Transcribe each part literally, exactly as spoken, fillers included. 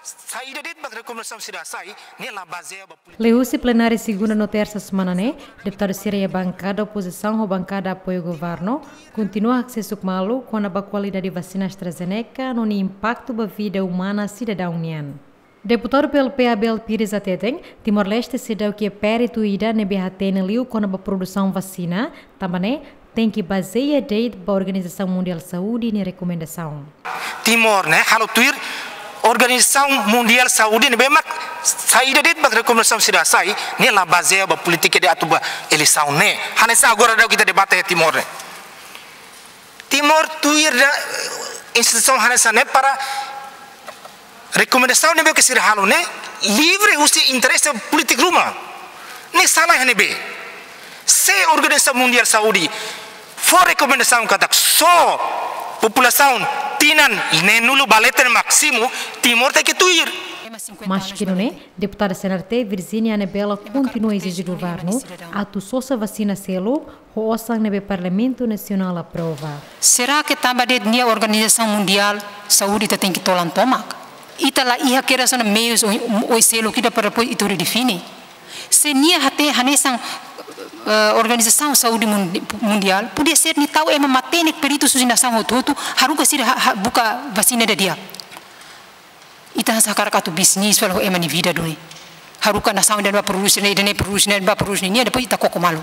Saida de'it mak rekomendasaun sira sai, ne'e la bazeia ba polítika. Liuhusi plenária segunda no tersa semana ne'e, deputadu sira iha bankada opozisaun ho bankada apoiu governu kontinua hakse'e suk malu kona-ba kualidade vasina AstraZeneca no nia impaktu ba vida umana sidadaun nian. Deputadu P L P Abel Pires hateten, Timor-Leste seidauk iha peritu ida ne'ebé hatene liu kona-ba produsaun vasina, tanba ne'e tenke bazeia de'it ba Organizasaun Mundiál Saúde nia rekomendasaun. Timor ne'e halo tuir Organizasaun Mundiál Saúde ne'ebé mak saida de'it mak rekomendasaun sira sai, ne'e la bazeia ba polítika ida atu ba eleisaun ne'e. Hanesan agora daudaun ita debate iha Timor ne'e. Timor tuir da, eh, instituisaun hanesan ne'e para rekomendasaun ne'ebé ke sira halo ne'e livre husi interese polítiku ruma. Ne'e sala iha ne'ebé? Se Organizasaun Mundiál Saúde fó rekomendasaun katak só populasaun tinan neenulu ba leten másimu, Timor tenke tuir. Maski nune'e, deputada C N R T Virginia Anabela kontinua ezije governu atu sosa vasina seluk ho osan ne'ebé Parlamentu Nasionál aprova. Será que tanba de'it nia Organizasaun Mundiál Saúde ita tenke tolan tomak? Ita la iha kedas ona meius ou, ou selu ida para depois ita define. Se nia hatene hanesan, eh, Organizasaun Saúde Mun-, Mundiál, podia ser nia tau ema matenek peritus husi nasaun hotu-hotu, haruka sira ha-, ha-, buka vasina ida di'ak. Ita hanesan hakarak atu bisnis fali ho ema nia vida duni. Haruka nasaun ida-ne'e ba produs ne'e, ida-ne'e produs ne'e, ba produs ne'e, nia depois ita koko malu.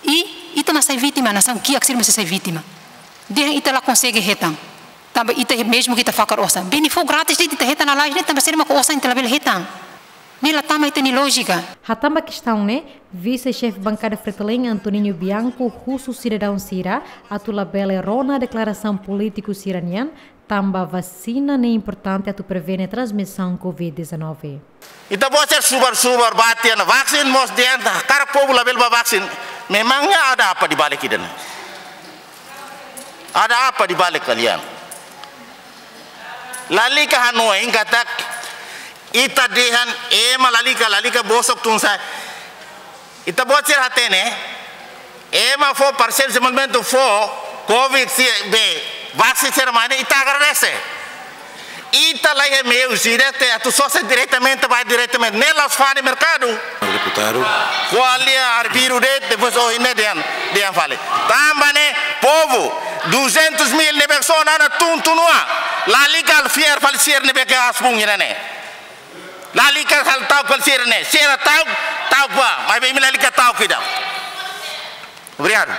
I ita mak sai vítima, nasaun kiak sira mak sai vítima. Dehan ita la konsege hetan. Tanba ita mezmu ke ita fakar osan. Beni fó grátis de'it ita hetan lalais ne'e, tanba sira mak osan ita labele hetan. Ne'e la tama ita-nia lójika. Hatán ba kestaun ne'e, Vise-Xefe Bankada Fretilin Antoninho Bianco husu sidadaun sira atu labele rona deklarasaun polítiku sira-nian, tanba vasina ne'e importante atu prevene transmisaun covid dezanove. Ita-boot sira subar-subar bá tiha ona vaksin, mós dehan katak povu labele bá vaksin. Memangnya ada apa di balik ida-ne'e? Ada apa di balik kalian? Lalika hanoin katak ita dehan ema lalika, lalika bosok tun sa'e. Ita-boot sira hatene, ema fó parseiru dezenvolvimentu fó covid sira be vaksin sira mai ne'e ita agradese. Ita la iha meius ida atu sosa diretamente, bá diretamente. Ne'e la'ós fali merkadu. Deputadu. Ko'alia arbiru de'it, depois ohin ne'e dehan, dehan fali. Tanba ne'e, povu, duzentos mil ne'ebé sona ona tun-tun ona. Lalika fiar fali sira ne'ebé ke asbun ida-ne'e. Lalika halo ta'uk fali sira-ne'e. Sira ta'uk, ta'uk bá. Maibé imi lalika ta'uk ida. Obrigadu.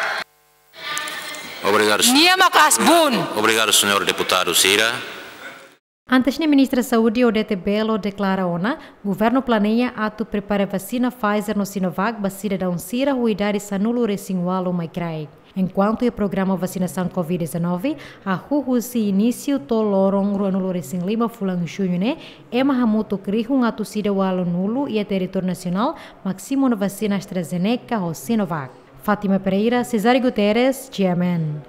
Obrigadu, señór. Nia mak asbun. Obrigadu, señór deputadu sira. Antes ne'e, Ministra Saúde Odete Bello deklara ona, governu planeia atu prepara vasina Pfizer no Sinovac ba sidadaun sira ho idade sanulu-resin-ualu mai kraik. Enkuantu iha programa vasinasaun covid dezanove, hahú husi inísiu to'o loron ruanulu-resin-lima fulan Juñu ne'e, ema hamutuk rihun atus ida ualunulu iha territóriu nasionál mak simu ona vasina AstraZeneca ho Sinovac. Fátima Pereira, Cesário Guterres, G M N.